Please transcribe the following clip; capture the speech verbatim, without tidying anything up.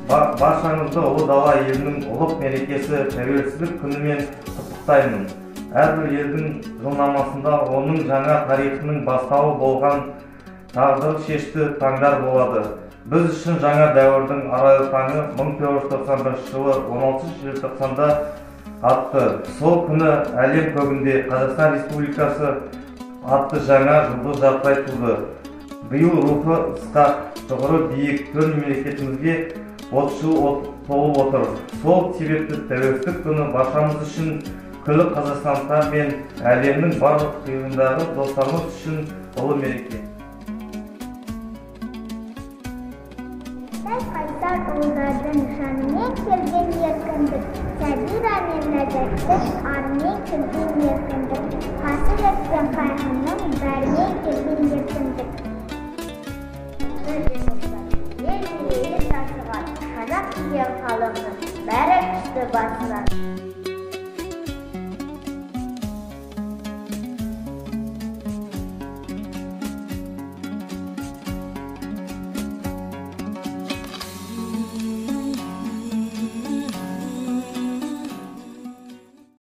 Баршаңызды ұлы дала елінің ұлық мерекесі тәуелсіздік күнімен құттықтаймын. Әрбір елдің жылнамасында оның жаңа тарихының бастауы болған тағдыр шешті таңдар болады. Біз үшін жаңа дәуірдің арайлы таңы мың тоғыз жүз тоқсан бірінші жылы он алтыншы желтоқсанда атты. Сол күні әлем көгінде Қазақстан Республикасы атты жаңа жұлдыз жарқырай туды. Биыл рухы ысқақ, тұғыры биік төл мемлекетімізге отыз жыл толып отыр. Сол себепті тәуелсіздік күні баршамыз үшін, күллі қазақстандықтар мен әлемнің барлық қиырындағы достарымыз үшін ұлы мереке. Қайсар ұлдардың жанымен келген еркіндік, сәбира мен ләззатты армен келген еркіндік, қасірет пен қайғының бәрімен келген еркіндік. Ел мерейі тасыған, қазақ деген халқының бәрі түсті басынан.